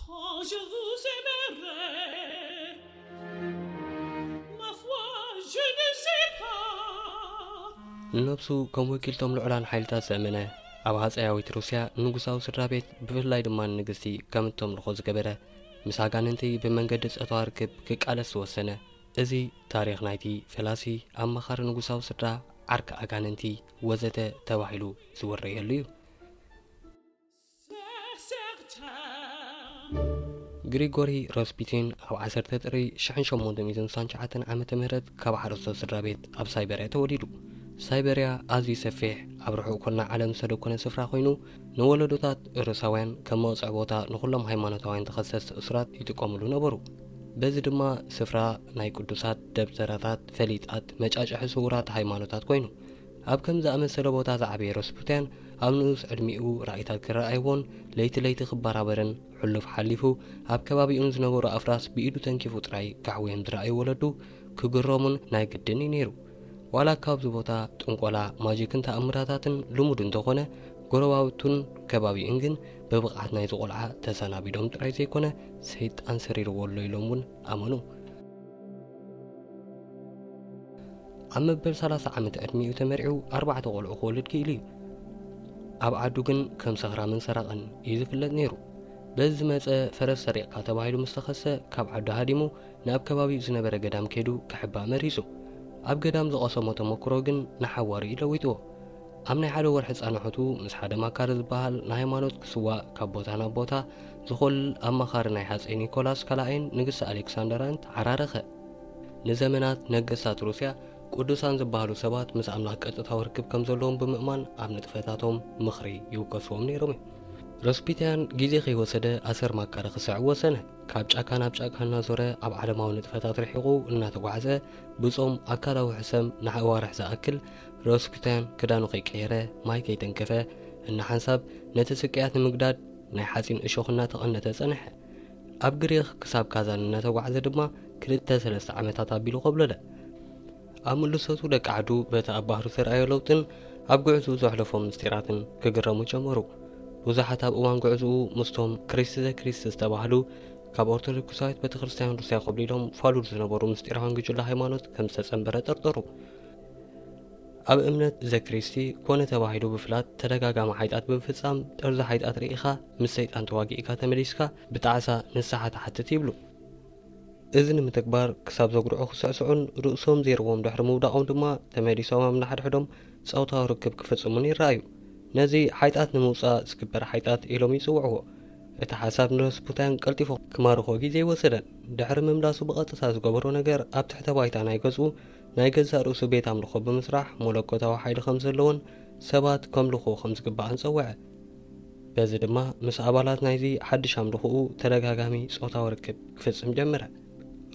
Oh, je vous aimerai, ma foi, je ne sais pas. ንነብሱ ከም ወኪልቶም ልዑላን ሓይልታት ዘእመነ፣ ኣብ ሃጸያዊት ሩስያ ንጉሳዊ ስድራ ቤት፣ ብፍላይ ድማ ንንግስቲ ከም እተምልኾ ዝገበረ፣ ምስ ኣጋንንቲ ብመንገዲ ጾታዊ ርክብ ክቃለስ ዝወሰነ፣ እዚ ታሪኽ ናይቲ ፈላሲ፣ ኣማኻሪ ንጉሳዊ ስድራ፣ ዓርኪ ኣጋንንቲ ወዘተ ተባሂሉ ዝውረየሉ እዩ። ግሪጎሪ ሮስፒቲን ኣብ ዓሰርተ ጥሪ ሽሕን ሸሞንተ ሚእትን ስሳን ትሽዓተን ዓመተ ምህረት ካብ ሓረስቶት ስድራ ቤት ኣብ ሳይበርያ ተወሊዱ። ሳይበርያ ኣዝዩ ሰፊሕ፣ ኣብ ርሑቕ ኮና ዓለም ዝተደኮነ ስፍራ ኮይኑ፣ ንወለዶታት ሩሳውያን ከም መቕጽዒ ቦታ ንኹሎም ሃይማኖታውያን ተኸሰስቲ እሱራት ይጥቀሙሉ ነበሩ። በዚ ድማ ስፍራ ናይ ቅዱሳት ደብተራታት፣ ፈሊጣት፣ መጫጭሒ ስውራት ሃይማኖታት ኮይኑ። ኣብ ከም ዝኣመሰለ ቦታ ዝዓበየ ረስፑቲያን ኣብ ንኡስ ዕድሚኡ ራእይታት ክረኣይዎን ለይቲ ለይቲ ክበራበርን ሕሉፍ ሓሊፉ ኣብ ከባቢኡ ንዝነበሩ ኣፍራስ ብኢዱ ተንኪፉ ጥራይ ክዓውዮም ዝረኣዩ ወለዱ ክግረሙን ናይ ግድን እዩ ነይሩ። ዋላ ካብዚ ቦታ ጥንቆላ፣ ማጂክን ተኣምራታትን ልሙድ እንተኾነ፣ ጎረባብቱን ከባቢኡን ግን ብብቕዓት ናይዚ ቆልዓ ተሰናቢዶም ጥራይ ዘይኮነ ሰይጣን ሰሪርዎ ኣሎ ኢሎም እውን ኣመኑ። ኣብ መበል ሰላሳ ዓመት ዕድሚኡ ተመርዒው ኣርባዕተ ቆልዑ ክወልድ ክኢሉ እዩ። ኣብ ዓዱ ግን ከም ሰኽራምን ሰራቕን እዩ ዝፍለጥ ነይሩ። በዚ ዝመጸ ፈረስ ሰሪቕካ ተባሂሉ ምስ ተኸሰ ካብ ዓዱ ሃዲሙ ናብ ከባቢኡ ዝነበረ ገዳም ከይዱ ክሕባእ መሪጹ። ኣብ ገዳም ዝቐሰሞ ተመክሮ ግን ንሓዋሩ እዩ ለዊጥዎ። ኣብ ናይ ሓደ ወርሒ ጻንሖቱ ምስ ሓደ ማካሪ ዝበሃል ንሃይማኖት ክስዋእ ካብ ቦታ ናብ ቦታ ዝኾልል ኣማኻሪ ናይ ሃጸይ ኒኮላስ ካልኣይን ንግስቲ ኣሌክሳንደራን ተዓራረኸ። ንዘመናት ነገስታት ሩስያ ቅዱሳን ዝበሃሉ ሰባት ምስ ኣምላኽ ቀጥታዊ ርክብ ከም ዘለዎም ብምእማን ኣብ ንጥፈታቶም ምኽሪ ይውከስዎም ነይሮም እዮም። ረስፒቲያን ግዜ ከይወሰደ ኣሰር ማካሪ ክስዕብ ወሰነ። ካብ ጫካ ናብ ጫካ እናዞረ ኣብ ዓለማዊ ንጥፈታት ርሒቑ እናተጓዕዘ ብጾም ኣካላዊ ሕሰም ንኣዋርሕ ዝኣክል ረስፒቲያን ክዳኑ ከይቀየረ ማይ ከይተንከፈ እናሓንሳብ ነቲ ስቅያት ንምግዳድ ናይ ሓጺን እሾኽ እናተቐነተ ጸንሐ። ኣብ ግሪኽ ክሳብ ካዛን እናተጓዕዘ ድማ ክልተ ሰለስተ ዓመታት ኣቢሉ ኮብለለ። ኣብ ምልሰቱ ደቂ ዓዱ በቲ ኣብ ባህሩ ዝተረኣዮ ለውጥን ኣብ ጉዕዝኡ ዘሕለፎም ምስጢራትን ክግረሙ ጀመሩ። ብዙሓት ኣብ እዋን ጉዕዝኡ ምስቶም ክሪስት ዘ ክሪስት ዝተባህሉ ካብ ኦርቶዶክሳዊት ቤተክርስትያን ሩስያ ኮብሊሎም ፋሉል ዝነበሩ ምስጢራውያን ጉጅለ ሃይማኖት ከም ዝተጸንበረ ጠርጠሩ። ኣብ እምነት ዘክሪስቲ ኮነ ተባሂሉ ብፍላት ተደጋጋሚ ሓይጣት ብምፍጻም፣ ጠርዚ ሓይጣት ርኢኻ ምስ ሰይጣን ተዋጊእካ ተመሊስካ ብጣዕሳ ንስሓ ትሓትት ይብሉ። እዚ ንምትግባር ክሳብ ዘጉርዑ ክስዕስዑን ርእሶም ዘይርዎም ድሕሪ ምውዳቖም ድማ ተመሊሶም ኣብ ነሓድሕዶም ጾታዊ ርክብ ክፍጽሙን ይረኣዩ። ነዚ ሓይጣት ንምውጻእ ዝግበር ሓይጣት ኢሎም ይጽውዕዎ። እቲ ሓሳብ ንረስፑታን ቀልጢፉ ክማርኾ ግዜ ኣይወሰደን። ድሕሪ ምምላሱ ብቐጥታ ዝገበሮ ነገር ኣብ ትሕተ ባይታ ናይ ገዝኡ ናይ ገዛእ ርእሱ ቤት ኣምልኾ ብምስራሕ መለኮታዊ ሓይሊ ከም ዘለዎን ሰባት ከምልኽዎ ከም ዝግባእን ጸውዐ። በዚ ድማ ምስ ኣባላት ናይዚ ሓድሽ ኣምልኾኡ ተደጋጋሚ ጾታዊ ርክብ ክፍጽም ጀመረ።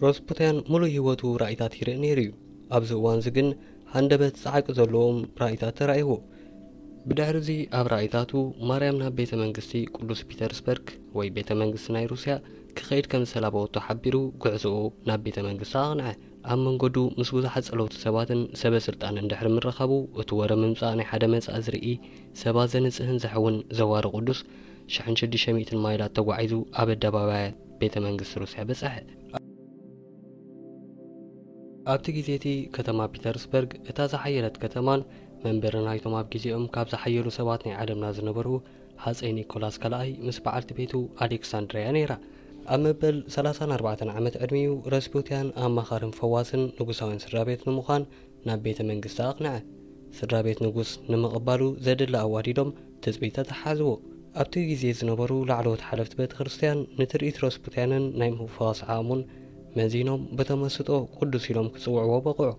ረስፑታን ምሉእ ህይወቱ ራእይታት ይርኢ ነይሩ እዩ። ኣብዚ እዋን እዚ ግን ሃንደበት ጻዕቂ ዘለዎም ራእይታት ተራእይዎ። ብድሕሪ እዚ ኣብ ራእይታቱ ማርያም ናብ ቤተ መንግስቲ ቅዱስ ፒተርስበርግ ወይ ቤተ መንግስቲ ናይ ሩስያ ክኸይድ ከም ዝተላበወቶ ሓቢሩ ጉዕዞኡ ናብ ቤተ መንግስቲ ኣቕንዐ። ኣብ መንገዱ ምስ ብዙሓት ጸለውቲ ሰባትን ሰበ ስልጣንን ድሕሪ ምርኻቡ፣ እቲ ወረ ምምጻእ ናይ ሓደ መጻኢ ዝርኢ፣ ሰባት ዘንጽህን ዘሕውን ዘዋሪ ቅዱስ ሽሕን ሽዱሽተ ሚእትን ማይላት ተጓዒዙ ኣብ ኣደባባያት ቤተ መንግስቲ ሩስያ በጽሐ። ኣብቲ ግዜ እቲ ከተማ ፒተርስበርግ እታ ዝሓየለት ከተማን መንበሪ ናይቶም ኣብ ግዜኦም ካብ ዝሓየሉ ሰባት ናይ ዓለምና ዝነበሩ ሃጸይ ኒኮላስ ካልኣይ ምስ በዓልቲ ቤቱ ኣሌክሳንድርያ ነይራ። ኣብ መበል ሰላሳን ኣርባዕተን ዓመት ዕድሚኡ ረስፑቲያን ኣማኻርን ፈዋስን ንጉሳውያን ስድራ ቤት ንምዃን ናብ ቤተ መንግስቲ ኣቕንዐ። ስድራ ቤት ንጉስ ንምቕባሉ ዘድሊ ኣዋዲዶም ትጽቢት ተተሓዝዎ። ኣብቲ ግዜ ዝነበሩ ላዕለዎት ሓለፍቲ ቤተ ክርስቲያን ንትርኢት ረስፑቲያንን ናይ ምፍዋስ ዓቕሙን መዚኖም ብተመስጦ ቅዱስ ኢሎም ክጽውዕዎ በቕዑ።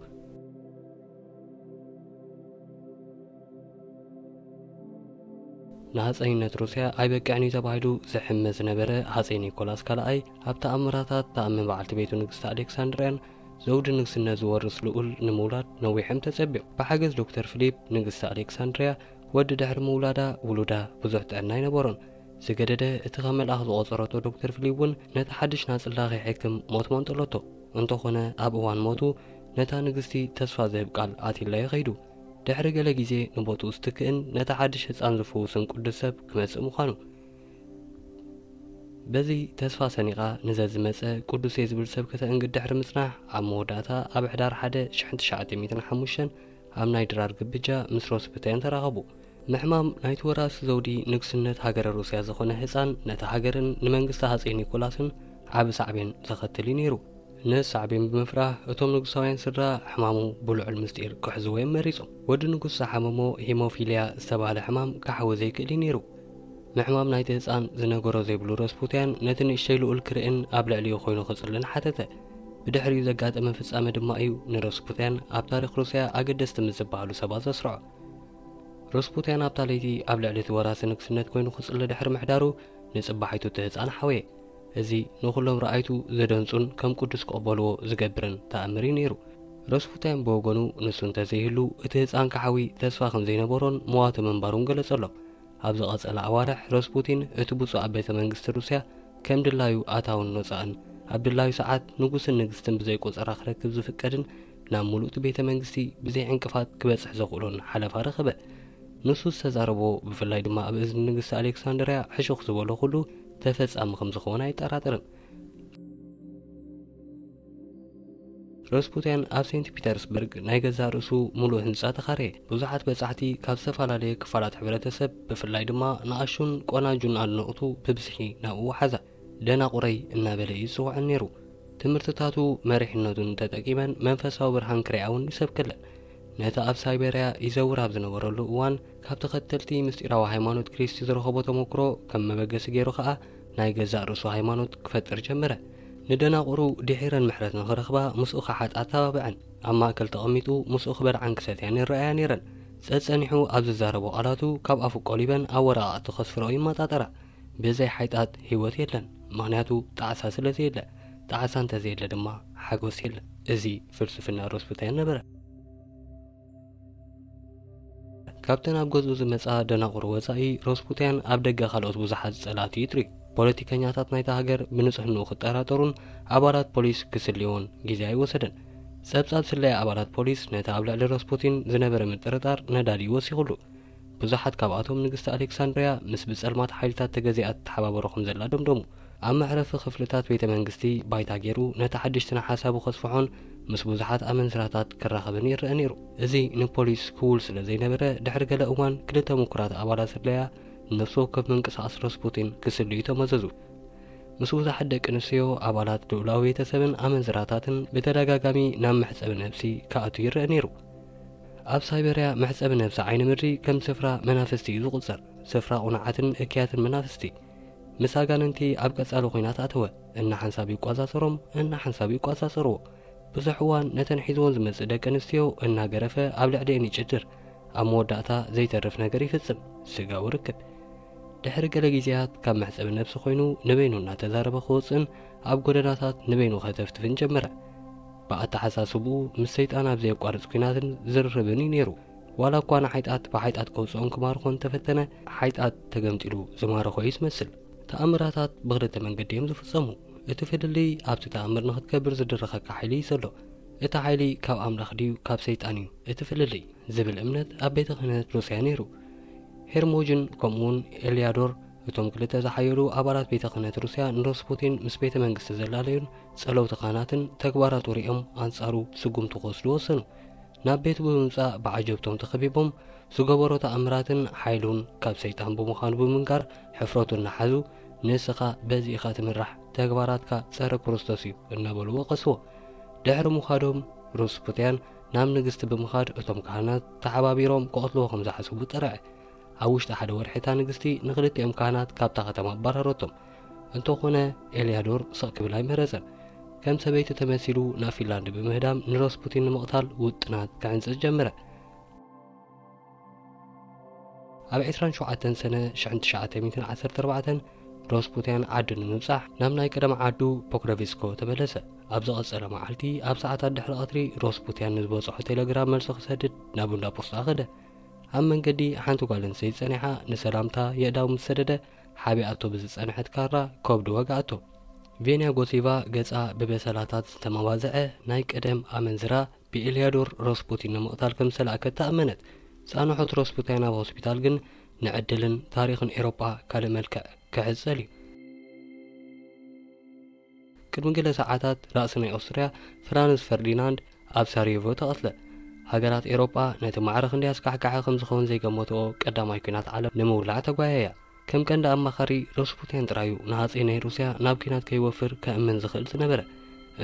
ንሃጸይነት ሩስያ ኣይበቅዕን እዩ ተባሂሉ ዝሕመ ዝነበረ ሃጸይ ኒኮላስ ካልኣይ ኣብ ተኣምራታት ተኣምን በዓልቲ ቤቱ ንግስቲ ኣሌክሳንድርያን ዘውዲ ንግስነት ዝወርስ ልኡል ንምውላድ ነዊሖም ተጸቢዮም። ብሓገዝ ዶክተር ፊሊፕ ንግስቲ ኣሌክሳንድርያ ወዲ ድሕሪ ምውላዳ ውሉዳ ብዙሕ ጥዕና ኣይነበሮን። ዝገደደ እቲ ከም መልኣኽ ዝቖጸረቶ ዶክተር ፊሊፕ እውን ነቲ ሓድሽ ናጽላ ከይሕክም ሞት መንጠለቶ። እንተኾነ ኣብ እዋን ሞቱ ነታ ንግስቲ ተስፋ ዝህብ ቃል ኣትይላዮ ከይዱ። ድሕሪ ገለ ግዜ ንቦትኡ ዝትክእን ነቲ ሓድሽ ህጻን ዝፍውስን ቅዱስ ሰብ ክመጽእ ምዃኑ። በዚ ተስፋ ሰኒቓ ንዘዝመጸ ቅዱስ እየ ዝብል ሰብ ከተእንግድ ድሕሪ ምጽናሕ፣ ኣብ መወዳእታ ኣብ ሕዳር ሓደ ሽሕን ትሽዓተ ሚእትን ሓሙሽተን ኣብ ናይ ድራር ግብጃ ምስ ሮስፕታያን ተራኸቡ። ምሕማም ናይቲ ወራሲ ዘውዲ ንግስነት ሃገረ ሩስያ ዝኾነ ህጻን ነታ ሃገርን ንመንግስቲ ሃጸይ ኒኮላስን ዓቢ ሳዕቤን ዘኸትል እዩ ነይሩ። ነዚ ሳዕቤን ብምፍራህ እቶም ንጉሳውያን ስድራ ሕማሙ ብልዑል ምስጢር ክሕዝዎ እዮም መሪጾም። ወዲ ንጉስ ዝሓመሞ ሂሞፊልያ ዝተባህለ ሕማም ክሓዊ ዘይክእል እዩ ነይሩ። ምሕማም ናይቲ ህጻን ዝነገሮ ዘይብሉ ረስፑትያን ነቲ ንእሽተይ ልኡል ክርእን ኣብ ልዕሊኡ ኮይኑ ክጽልን ሓተተ። ብድሕሪኡ ዘጋጠመ ፍጻመ ድማ እዩ ንረስፑትያን ኣብ ታሪኽ ሩስያ ኣገደስቲ ምስ ዝበሃሉ ሰባት ዘስርዖ። ረስፑትያን ኣብታ ለይቲ ኣብ ልዕሊ እቲ ወራሲ ንግስነት ኮይኑ ክጽሊ ድሕሪ ምሕዳሩ፣ ንጽባሒቱ እቲ ህጻን ሓወየ። እዚ ንኹሎም ረኣይቱ ዘደንጹን ከም ቅዱስ ክቕበልዎ ዝገብርን ተኣምር እዩ ነይሩ። ረስፑትያን ብወገኑ፣ ንሱ እንተዘይህሉ እቲ ህጻን ክሓዊ ተስፋ ከም ዘይነበሮን መዋቲ ምንባሩን ገለጸሎም። ኣብ ዝቐጸለ ኣዋርሕ ረስፑቲን እቲ ብፁዕ ኣብ ቤተ መንግስቲ ሩስያ ከም ድላዩ ኣታውን ወጻእን ኣብ ድላዩ ሰዓት ንጉስን ንግስትን ብዘይ ቆጸራ ክረክብ ዝፍቀድን ናብ ምሉእ እቲ ቤተ መንግስቲ ብዘይ ዕንቅፋት ክበጽሕ ዘኽእሎን ሓለፋ ረኸበ። ንሱ ዝተዛረቦ፣ ብፍላይ ድማ ኣብ እዝኒ ንግስቲ ኣሌክሳንድርያ ሕሹኽ ዝበሎ ኩሉ ተፈጻሚ ከም ዝኸውን ኣይጠራጠርን። ረስፑትያን ኣብ ሴንት ፒተርስበርግ ናይ ገዛእ ርእሱ ምሉእ ህንጻ ተኻረየ። ብዙሓት በጻሕቲ ካብ ዝተፈላለየ ክፋላት ሕብረተሰብ፣ ብፍላይ ድማ ንኣሹን ቆናጁን ኣድነቕቱ ብብዝሒ ናብኡ ወሓዛ። ደናቑረይ እናበለ እዩ ዝጽውዐን ነይሩ። ትምህርትታቱ መሪሕነቱን ተጠቂመን መንፈሳዊ ብርሃን ክሪኣ እውን ይሰብከለን። ነቲ ኣብ ሳይቤርያ ይዘውር ኣብ ዝነበረሉ እዋን፣ ካብ ተኸተልቲ ምስጢራዊ ሃይማኖት ክሪስቲ ዝረኸቦ ተመክሮ ከም መበገሲ ገይሩ ኸኣ ናይ ገዛእ ርእሱ ሃይማኖት ክፈጥር ጀመረ። ንደናቑሩ ድሒረን ምሕረት ንኽረኽባ ምስኡ ክሓጣ ኣተባብዐን። ኣብ ማእከል ተቐሚጡ ምስኡ ክበልዓን ክሰትያን ይረኣያ ነይረን። ጸጸኒሑ ኣብ ዝዛረቦ ቃላቱ ካብ ኣፉ ቆሊበን ኣብ ወረቓቕቲ ከስፍረኦ ይመጣጠራ። ብዘይ ሓይጣት ህይወት የለን፣ ምኽንያቱ ጣዕሳ ስለ ዘየለ። ጣዕሳ እንተዘየለ ድማ ሓጎስ የለን። እዚ ፍልስፍና ሮስፕታይን ነበረ። ካብተን ኣብ ገዝኡ ዝመጻ ደናቑር ወጻኢ፣ ሮስፑትያን ኣብ ደገ ካልኦት ብዙሓት ጸላእቲ ይጥርዩ። ፖለቲከኛታት ናይታ ሃገር ብንጽህንኡ ክጠራጠሩን ኣባላት ፖሊስ ክስልይዎን ግዜ ኣይወሰደን። ጸብጻብ ስለያ ኣባላት ፖሊስ ነቲ ኣብ ልዕሊ ሮስፑቲን ዝነበረ ምጥርጣር ነዳዲ ወሲኹሉ። ብዙሓት ካብኣቶም ንግስቲ ኣሌክሳንድርያ ምስ ብጸልማት ሓይልታት ተገዚኣ ትተሓባበሮ ከም ዘላ ደምደሙ። ኣብ መዕረፊ ክፍልታት ቤተ መንግስቲ ባይታ ገይሩ ነቲ ሓድሽ ስነ ሓሳቡ ከስፍሖን ምስ ብዙሓት ኣመንዝራታት ክራኸብን ይረአ ነይሩ። እዚ ንፖሊስ ክውል ስለ ዘይነበረ፣ ድሕሪ ገለ እዋን ክልተ ምኩራት ኣባላት ስለያ ነፍሲ ወከፍ ምንቅስቓስ ረስፑቲን ክስልዩ ተመዘዙ። ምስ ብዙሓት ደቂ ኣንስትዮ፣ ኣባላት ልኡላዊ ቤተሰብን ኣመንዝራታትን ብተደጋጋሚ ናብ መሕጸቢ ነብሲ ክኣቱ ይረአ ነይሩ። ኣብ ሳይበርያ መሕጸቢ ነብሲ ዓይኒ ምድሪ ከም ስፍራ መናፍስቲ እዩ ዝቑጸር፣ ስፍራ ቁኑዓትን እክያትን መናፍስቲ። ምስ ኣጋንንቲ ኣብ ቀጻሊ ኲናት ኣተወ። እናሓንሳብ ይቋጻጸሮም፣ እናሓንሳብ ይቋጻጸርዎ። ብዙሕ እዋን ነተን ሒዝወን ዝመጽእ ደቂ ኣንስትዮ እናገረፈ ኣብ ልዕሊኤን ይጭድር። ኣብ መወዳእታ ዘይተርፍ ነገር ይፍጽም፣ ስጋዊ ርክብ። ድሕሪ ገለ ግዜያት ካብ መሕጸቢ ነብሲ ኮይኑ ንበይኑ እናተዛረበ ክወጽእን ኣብ ጎደናታት ንበይኑ ከተፍትፍን ጀመረ። ብኣተሓሳስብኡ ምስ ሰይጣን ኣብ ዘየቋርጽ ኲናትን ዝርርብን እዩ ነይሩ። ዋላ እኳ ንሓይጣት ብሓይጣት ከውጽኦን ክማርኾን እንተፈተነ፣ ሓይጣት ተገምጢሉ ዝማረኾ እዩ ዝመስል። ተኣምራታት ብኽልተ መንገዲ እዮም ዝፍጸሙ። እቲ ፍልልይ ኣብቲ ተኣምር ንኽትገብር ዝድርኸካ ሓይሊ እዩ ዘሎ። እቲ ሓይሊ ካብ ኣምላኽ ድዩ ካብ ሰይጣን እዩ እቲ ፍልልይ ዝብል እምነት ኣብ ቤተ ክህነት ሩስያ ነይሩ። ሄርሞጅን ከምኡውን ኤልያዶር፣ እቶም ክልተ ዝሓየሉ ኣባላት ቤተ ክህነት ሩስያ፣ ንሮስፑቲን ምስ ቤተ መንግስቲ ዘላለዩን ጸለውቲ ካህናትን ተግባራቱ ሪኦም ኣንጻሩ ስጉምቲ ክወስዱ ወሰኑ። ናብ ቤቱ ብምምጻእ ብዓጀብቶም ተኸቢቦም ዝገበሮ ተኣምራትን ሓይሉን ካብ ሰይጣን ብምዃኑ ብምንጋር ሕፍረቱ እናሓዙ፣ "ንስኻ በዚ ኢኻ ትምራሕ፣ ተግባራትካ ጸረ ክርስቶስ እዩ" እናበሉ ወቐስዎ። ድሕሪ ምዃዶም ሮስፑትያን ናብ ንግስቲ ብምኻድ እቶም ካህናት ተሓባቢሮም ክቐትልዎ ከም ዝሓሰቡ ጠርዐ። ኣብ ውሽጢ ሓደ ወርሒ እታ ንግስቲ ንኽልቲኦም ካህናት ካብታ ከተማ ኣባረረቶም። እንተኾነ ኤልያዶር ስቕ ክብል ኣይመረጸን። ከም ሰበይቲ ተመሲሉ ናብ ፊንላንድ ብምህዳም ንሮስፑቲን ንምቕታል ውጥናት ክሕንጽጽ ጀመረ። ኣብ ዕስራን ሸውዓተን ሰነ ሽሕን ትሽዓተ ሚእትን ዓሰርተ ኣርባዕተን ሮስፑትያን ዓዱ ንምብጻሕ ናብ ናይ ቀደም ዓዱ ፖክሮቪስኮ ተመለሰ። ኣብ ዝቐጸለ መዓልቲ ኣብ ሰዓታት ድሕሪ ቀትሪ ሮስፑትያን ንዝበጽሖ ቴሌግራም መልሲ ክሰድድ ናብ እንዳ ፖስታ ከደ። ኣብ መንገዲ ሓንቲ ጓል ኣንስተይቲ ጸኒሓ ንሰላምታ የእዳው ምስ ሰደደ፣ ሓቢኣቶ ብዝጸንሐት ካራ ከብዱ ወግኣቶ። ቬንያ ጎሲቫ ገጻ ብበሰላታት ዝተመባዝዐ ናይ ቀደም ኣመንዝራ ብኤልያዶር ሮስፑቲን ንምቕታል ከም ዝተላእከት ተኣመነት። ጻንሖት ሮስፑቲን ኣብ ሆስፒታል ግን ንዕድልን ታሪኽን ኤሮጳ ካልእ መልክዕ ክሕጸል እዩ። ቅድሚ ገለ ሰዓታት ራእሲ ናይ ኦስትርያ ፍራንስ ፈርዲናንድ ኣብ ሳራየቮ ተቐትለ። ሃገራት ኤውሮጳ ነቲ ማዕረ ክንደይ ኣስካሕካሒ ከም ዝኸውን ዘይገመትኦ ቀዳማይ ኲናት ዓለም ንምውላዕ ተጓየያ። ከም ቀንዲ ኣማኻሪ ሮስፑቲን ጥራዩ ንሃጸይ ናይ ሩስያ ናብ ኲናት ከይወፍር ከእምን ዝኽእል ዝነበረ።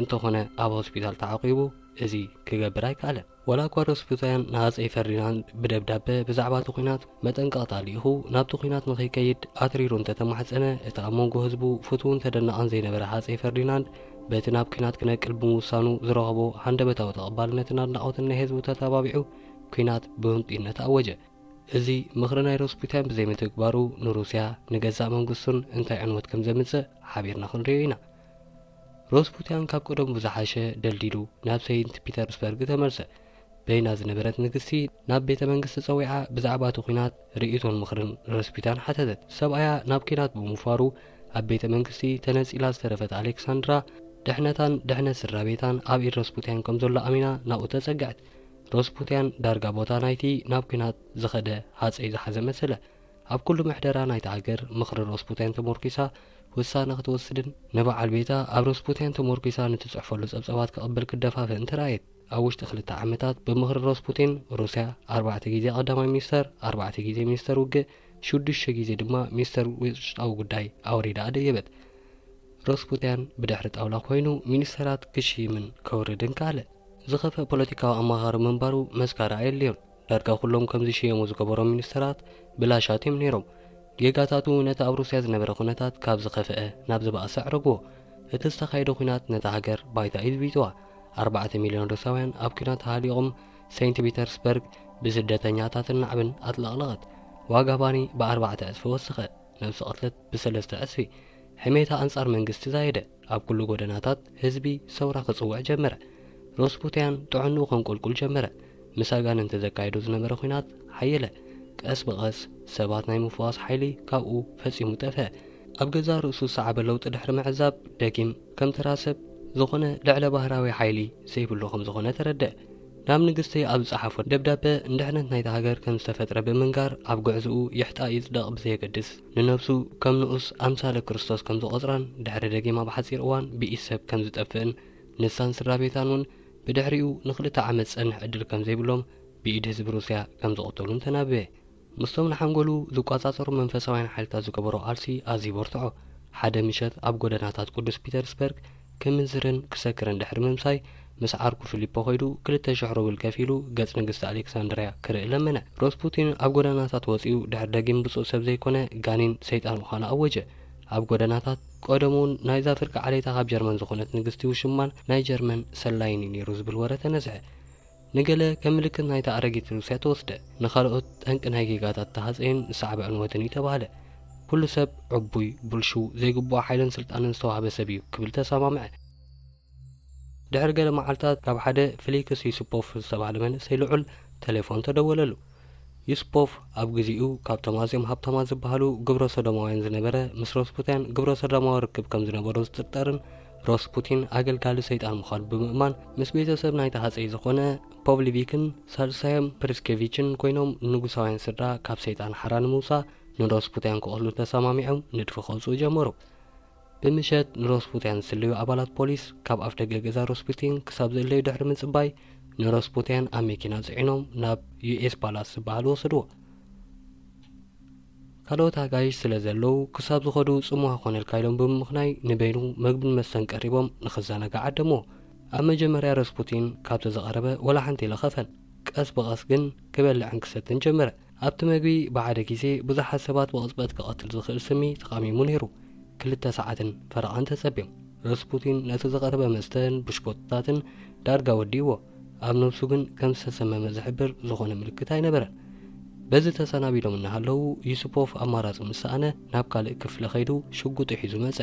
እንተኾነ ኣብ ሆስፒታል ተዓቂቡ እዚ ክገብር ኣይከኣለን። ዋላ እኳ ሮስፑቲን ንሃጸይ ፈርዲናንድ ብደብዳበ ብዛዕባ እቲ ኲናት መጠንቀቕታ ልኢኹ ናብቲ ኲናት ንኸይከይድ ኣትሪሩ እንተተማሕጸነ፣ እቲ ኣብ መንጎ ህዝቡ ፍቱውን ተደናቕን ዘይነበረ ሃጸይ ፈርዲናንድ በቲ ናብ ኲናት ክነቅል ብምውሳኑ ዝረኸቦ ሃንደበታዊ ተቐባልነትን ኣድናቖትን ናይ ህዝቡ ተተባቢዑ ኲናት ብህንጡይነት ኣወጀ። እዚ ምኽሪ ናይ ሮስፑቲን ብዘይምትግባሩ ንሩስያ ንገዛእ መንግስቱን እንታይ ዕንወት ከም ዘምጽእ ሓቢርና ክንሪኦ ኢና። ሮስፑቲን ካብ ቀደሙ ብዝሓሸ ደልዲሉ ናብ ሰይንት ፒተርስበርግ ተመልሰ። በይና ዝነበረት ንግስቲ ናብ ቤተ መንግስቲ ጸዊዓ ብዛዕባ እቲ ኲናት ርእይቶን ምኽርን ሮስፑቲን ሓተተት። ሰብኣያ ናብ ኲናት ብምውፋሩ ኣብ ቤተ መንግስቲ ተነጺላ ዝተረፈት ኣሌክሳንድራ ድሕነታን ድሕነት ስድራ ቤታን ኣብ ኢድ ሮስፑቲን ከም ዘሎ ኣሚና ናብኡ ተጸግዐት። ሮስፑቲን ዳርጋ ቦታ ናይቲ ናብ ኲናት ዝኸደ ሃጸይ ዝሓዘ መሰለ። ኣብ ኩሉ ምሕደራ ናይቲ ሃገር ምኽሪ ሮስፑቲን ተሞርኪሳ ውሳነ ክትወስድን ንበዓል ቤታ ኣብ ሮስፑቲን ተሞርኪሳ ንትጽሕፈሉ ጸብጻባት ክቕበል ክደፋፍእን ተራእየት። ኣብ ውሽጢ ክልተ ዓመታት ብምኽሪ ሮስፑቲን ሩስያ ኣርባዕተ ግዜ ቀዳማይ ሚኒስተር፣ ኣርባዕተ ግዜ ሚኒስተር ውግእ፣ ሽዱሽተ ግዜ ድማ ሚኒስተር ውሽጣዊ ጉዳይ ኣውሪዳ ኣደየበት። ሮስፑቲን ብድሕሪ ጣውላ ኮይኑ ሚኒስተራት ክሽይምን ከውርድን ከኣለ። ዝኸፍአ ፖለቲካዊ ኣማኻሪ ምንባሩ መስካሪ ኣየድልዮን። ዳርጋ ኩሎም ከም ዝሽየሙ ዝገበሮም ሚኒስተራት ብላሻት እዮም ነይሮም። ጌጋታቱ ነቲ ኣብ ሩስያ ዝነበረ ኩነታት ካብ ዝኸፍአ ናብ ዝበኣሰ ኣዕረግዎ። እቲ ዝተኻየደ ኲናት ነታ ሃገር ባይታ እዩ ዝቢጥዋ። ኣርባዕተ ሚልዮን ሩስያውያን ኣብ ኲናት ተሃሊቖም ሰይንት ፒተርስበርግ ብስደተኛታትን ናዕብን ኣጥለቕለቐት። ዋጋ ባኒ ብኣርባዕተ ዕጽፊ ወሰኸ። ነብሲ ቅትለት ብሰለስተ ዕጽፊ። ሕሜታ ኣንጻር መንግስቲ ዛየደ። ኣብ ኩሉ ጎደናታት ህዝቢ ሰውራ ክጽውዕ ጀመረ። ሮስፑቲያን ጥዕንኡ ከንቆልቁል ጀመረ። ምስ ኣጋንንቲ ዘካየዶ ዝነበረ ኲናት ሓየለ። ቀስ ብቐስ ሰባት ናይ ምፍዋስ ሓይሊ ካብኡ ፈጺሙ ጠፍአ። ኣብ ገዛእ ርእሱ ዝሰዓበ ለውጢ ድሕሪ ምዕዛብ ደጊም ከም ተራ ሰብ ዝኾነ ልዕለ ባህራዊ ሓይሊ ዘይብሉ ከም ዝኾነ ተረድአ። ናብ ንግስቲ ኣብ ዝጸሓፎ ደብዳበ ንድሕነት ናይታ ሃገር ከም ዝተፈጥረ ብምንጋር ኣብ ጉዕዝኡ ይሕጣ ይጽደቕ ብዘየገድስ ንነብሱ ከም ንኡስ ኣምሳለ ክርስቶስ ከም ዝቖጽራን ድሕሪ ደጊም ኣብ ሓጺር እዋን ብኢድ ሰብ ከም ዝጠፍእን ንሳን ስድራ ቤታን እውን ብድሕሪኡ ንኽልተ ዓመት ዝጸንሕ ዕድል ከም ዘይብሎም ብኢድ ህዝቢ ሩስያ ከም ዝቕተሉን ተናበየ። ምስቶም ንሓንጎሉ ዝቋጻጸሩ መንፈሳውያን ሓይልታት ዝገበሮ ቃልሲ ኣዝዩ በርትዖ። ሓደ ምሸት ኣብ ጎደናታት ቅዱስ ፒተርስበርግ ክምንዝርን ክሰክርን ድሕሪ ምምሳይ ምስ ዓርኩ ፊሊፖ ከይዱ ክልተ ሽሕ ሩብል ከፊሉ ገጽ ንግስቲ ኣሌክሳንድርያ ክርኢ ለመነ። ሮስፑቲን ኣብ ጎደናታት ወጺኡ ድሕሪ ደጊም ብጹእ ሰብ ዘይኮነ ጋኔን ሰይጣን ምዃኑ ኣወጀ። ኣብ ጎደናታት ቀደሙ እውን ናይዛ ፍርቂ ዓሌታ ካብ ጀርመን ዝኾነት ንግስቲ ውሽማን ናይ ጀርመን ሰላይን እዩ ነይሩ ዝብል ወረ ተነዝሐ። ንገለ ከም ምልክት ናይታ ኣረጊት ሩስያ ተወስደ፣ ንኻልኦት ጠንቂ ናይ ጌጋታት ተሃጸይን ዝሰዓበ ዕንወትን እዩ ተባህለ። ኩሉ ሰብ ዕቡይ፣ ብልሹው፣ ዘይግብኦ ሓይልን ስልጣንን ዝተዋህበ ሰብ እዩ ክብል ተሰማምዐ። ድሕሪ ገለ መዓልታት ካብ ሓደ ፍሊክስ ዩስፖፍ ዝተባህለ መንእሰይ ልዑል ተሌፎን ተደወለሉ። ዩስፖፍ ኣብ ግዜኡ ካብቶም ኣዝዮም ሃብታማት ዝበሃሉ ግብረ ሰዶማውያን ዝነበረ፣ ምስ ሮስፑቲያን ግብረ ሰዶማዊ ርክብ ከም ዝነበሮ ዝጥርጠርን ሮስፑቲን ኣገልጋሊ ሰይጣን ምዃኑ ብምእማን ምስ ቤተሰብ ናይቲ ሃጸይ ዝኾነ ፖቭሊቪክን ሳልሳዮም ፕሪስኬቪችን ኮይኖም ንጉሳውያን ስድራ ካብ ሰይጣን ሓራ ንምውጻእ ንሮስፑቲያን ክቐትሉ ተሰማሚዖም ንድፊ ከውጽኡ ጀመሩ። ብምሸት ንሮስፑቲያን ዝስለዩ ኣባላት ፖሊስ ካብ ኣፍ ደገ ገዛ ሮስፑቲን ክሳብ ዝእለዩ ድሕሪ ምጽባይ ንሮስፑቲያን ኣብ መኪና ጽዒኖም ናብ ዩኤስ ፓላስ ዝበሃል ወሰድዎ። ካልኦት ኣጋይሽ ስለ ዘለዉ ክሳብ ዝኸዱ ጽምዋ ኮነ ኢልካ ኢሎም ብምምኽናይ ንበይኑ መግብን መስተን ቀሪቦም ንኽዘናጋዕ ዓደምዎ። ኣብ መጀመርያ ሮስፑቲን ካብቲ ዝቐረበ ወላ ሓንቲ ኢለኸፈን። ቀስ ብቐስ ግን ክበልዕን ክሰትን ጀመረ። ኣብቲ መግቢ ብሓደ ግዜ ብዙሓት ሰባት ብቕጽበት ክቐትል ዝኽእል ስሚ ተቓሚሙ ነይሩ። ክልተ ሰዓትን ፈረቓን ተጸብዮም። ሮስፑቲን ነቲ ዝቐረበ መስተን ብሽኮትታትን ዳርጋ ወዲእዎ። ኣብ ነብሱ ግን ከም ዝተሰመመ ዝሕብር ዝኾነ ምልክት ኣይነበረን። በዚ ተሰናቢዶም እናሃለዉ ዩስፖፍ ኣማራጺ ምስ ሰኣነ ናብ ካልእ ክፍሊ ከይዱ ሽጉጡ ሒዙ መጸ።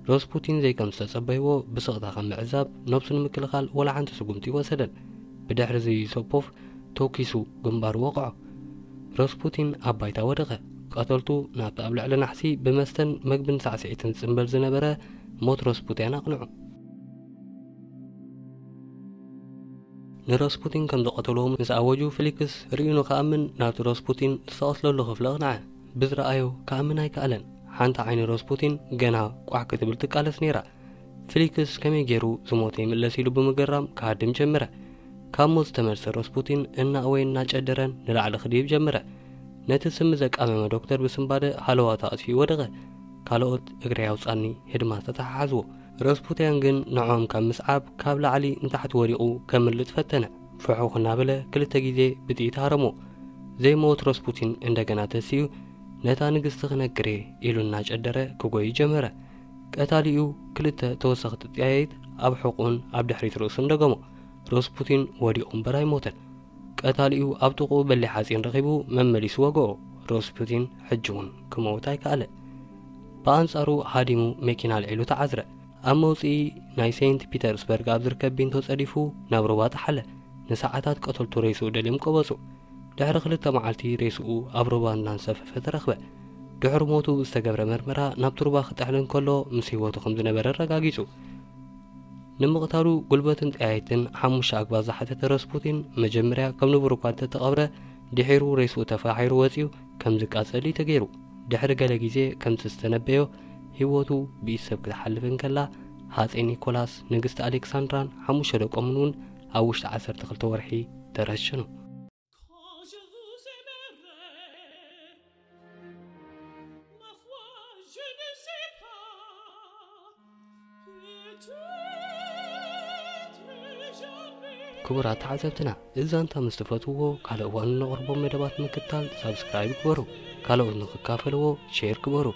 ሮስፑቲን ዘይከም ዝተጸበይዎ ብስቕታ ከም ምዕዛብ ነብሱ ንምክልኻል ወላ ሓንቲ ስጉምቲ ይወሰደን። ብድሕሪ እዚ ዩስፖፍ ተኪሱ ግንባሩ ወቕዖ። ሮስፑቲን ኣብ ባይታ ወደቐ። ቀተልቱ ናብቲ ኣብ ልዕሊ ናሕሲ ብመስተን መግብን ሳዕስዒትን ዝጽንበል ዝነበረ ሞት ሮስፑቲያን ኣቕንዑ። ንሮስፑቲን ከም ዝቐተልዎ ምስ ኣወጁ ፍሊክስ ርእዩ ንኽኣምን ናብቲ ሮስፑቲን ዝተቐትለሉ ክፍሊ ኣቕንዐ። ብዝረኣዮ ክኣምን ኣይከኣለን። ሓንቲ ዓይኒ ሮስፑቲን ገና ቋሕ ክትብል ትቃለስ ነይራ። ፍሊክስ ከመይ ገይሩ ዝሞተ ይምለስ ኢሉ ብምግራም ክሃድም ጀመረ። ካብ ሞት ዝተመልሰ ረስፑቲን እናእወየን እናጨደረን ንላዕሊ ክድይብ ጀመረ። ነቲ ስሚ ዘቃመመ ዶክተር ብስንባደ ሃለዋቱ ኣጥፊኡ ወደቐ። ካልኦት እግረይ ኣውጻኒ ህድማ ተተሓሓዝዎ። ረስፑቲያን ግን ንዖም ካብ ምስዓብ ካብ ላዕሊ ንታሕቲ ወዲቑ ከምልጥ ፈተነ። ፍሑኽ እናበለ ክልተ ግዜ ብጥይት ሃረሞ። ዘይመወት ረስፑቲን እንደገና ተሲኡ ነታ ንግስቲ ክነግር እየ ኢሉ እናጨደረ ክጎይ ጀመረ። ቀታሊኡ ክልተ ተወሰኽቲ ጥያየት ኣብ ሕቑን ኣብ ድሕሪት ርእሱን ደገሞ። ረስፑቲን ወዲቑ እምበር ኣይሞተን። ቀታሊኡ ኣብ ጥቕኡ በሊሕ ሓፂን ረኺቡ መመሊሱ ወገኦ። ረስፑቲን ሕጂ እውን ክመውት ኣይከኣለ። ብኣንጻሩ ሃዲሙ መኪና ኣልዒሉ ተዓዝረ። ኣብ መውፅኢ ናይ ሴንት ፒተርስበርግ ኣብ ዝርከብ ቢንቶ ጸዲፉ ናብ ሩባ ጠሓለ። ንሰዓታት ቀተልቱ ሬስኡ ደልዮም ቀበጹ። ድሕሪ ክልተ መዓልቲ ሬስኡ ኣብ ሩባ እናንሰፈፈ ተረኽበ። ድሕሪ ሞቱ ዝተገብረ መርመራ ናብቲ ሩባ ክጥሕል እንከሎ ምስ ህይወቱ ከም ዝነበረ ኣረጋጊጹ። ንምቕታሉ ጉልበትን ጠያይትን ሓሙሽተ ኣግባዝ ዝሓተተ ረስፑቲን መጀመርያ ከም ንቡር እኳ እንተተቐብረ ድሒሩ ሬስኡ ተፋሒሩ ወጺኡ ከም ዝቃጸል እዩ ተገይሩ። ድሕሪ ገለ ግዜ ከምቲ ዝተነበዮ ህይወቱ ብኢድ ሰብ ክትሓልፍ እንከላ ሃጼ ኒኮላስ ንግስቲ ኣሌክሳንድራን ሓሙሽተ ደቆምን እውን ኣብ ውሽጢ ዓሰርተ ክልተ ወርሒ ተረሸኑ። ክቡራት ተዓዘብትና፣ እዚ ዛንታ ምስ ትፈትውዎ ካልእ እዋን ነቕርቦም መደባት ምክትታል ሳብስክራይብ ግበሩ። ካልኦት ንክካፈልዎ ሼር ግበሩ።